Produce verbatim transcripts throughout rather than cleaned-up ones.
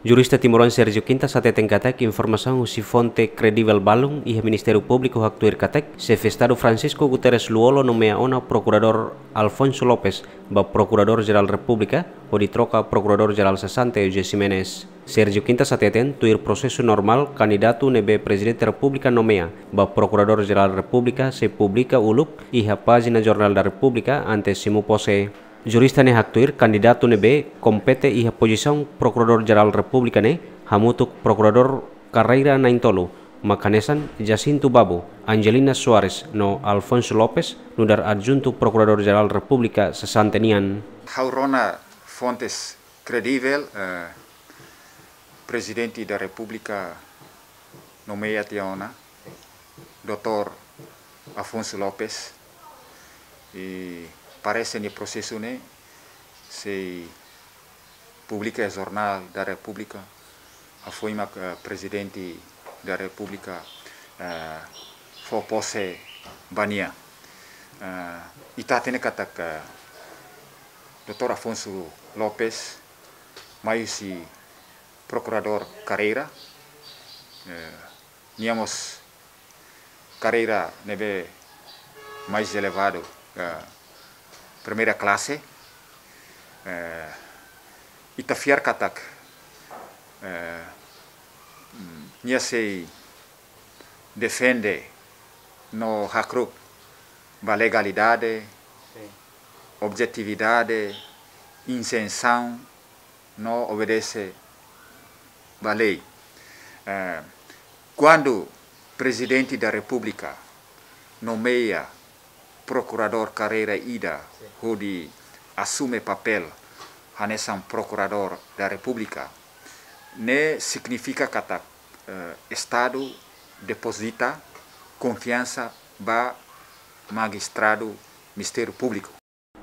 Jurista timoroan Sérgio Quintas hateten katak informasaun husi fonte kredivel balun iha Ministériu Públiku haktuir katak Xefe Estadu Francisco Guterres Lú-Olo nomeia ona Prokuradór Alfonso Lopes ba Prokuradór Jerál Repúblika, hodi troka Prokuradór Jerál sesante José Ximenes. Sérgio Quintas hateten, tuir prosesu normál, kandidatu ne'ebé Prezidente Repúblika nomeia ba Prokuradór Jerál Repúblika sei publika uluk iha pájina Jornál da Repúblika antes simu pose. Jurista ne'e haktuir kandidatu ne'ebé kompete iha pozisaun Prokuradór Jerál Repúblika ne'e hamutuk prokuradór karreira na'in-tolu, mak hanesan Jacinto Babo, Angelina Soares no Alfonso Lopes, nu'udar Adjuntu Prokuradór Jerál Repúblika sesante nian. Ha'u rona fontes kredivel, eh, Prezidente da Repúblika nomeia tiha ona Doutór Afonso Lopes, i parese nia prosesu ne'e sei publika iha Jornál da Repúblika, hafoin mak, eh, Prezidente da Repúblika, eh, fó pose ba nia. Eh, ita hatene katak, eh, Doutór Afonso Lopes mai husi prokuradór karreira, eh, nia mós karreira ne'ebé mais elevadu, eh, primeira klase, eh, ita fiar katak, eh, mm, nia sei defende no hakru'uk ba legalidade, Sin. Objetividade, isensaun, no obedese ba lei. Eh, kuandu Prezidente da Repúblika nomeia prokuradór karreira ida Sin. Hodi asume papél hanesan Prokuradór da Repúblika, ne'e signifika katak, eh, Estadu depozita konfiansa ba magistradu Ministériu Públiku.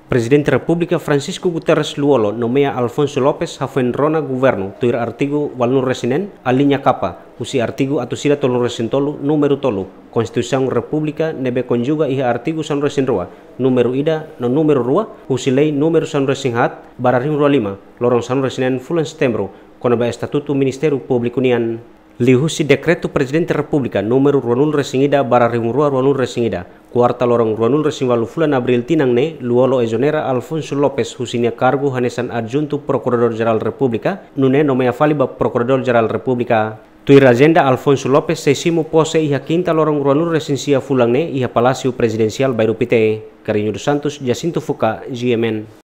Prezidente Repúblika Francisco Guterres Lú-Olo nomeia Alfonso Lopes hafoin rona governu tuir artigu ualunulu-resin-neen, aliña K, husi artigu atus ida tolunulu-resin-tolu, númeru tolu, Konstituisaun Repúblika ne'ebé konjuga iha artigu sanulu-resin-rua, númeru ida no númeru rua, husi Lei númeru sanulu-resin-haat barra rihun rua lima, loron sanulu-resin-neen fulan Setembru, kona-ba Estatutu Ministériu Públiku nian. Liuhusi Dekretu Prezidente Repúblika númeru ruanulu-resin-ida barra rihun rua ruanulu-resin-ida, kuarta loron ruanulu-resin-ualu fulan Abríl tinan ne'e, Lú-Olo ezonera Alfonso Lopes husi nia kargu hanesan Adjuntu Prokuradór Jerál Repúblika, nune'e nomeia fali ba Prokuradór Jerál Repúblika. Tuir ajenda, Alfonso Lopes sei simu pose iha kinta loron ruanulu-resin-sia fulan ne'e iha Palásiu Prezidensiál Bairru Pité. Carrinho dos Santos, Jacinto Fuca, G M N.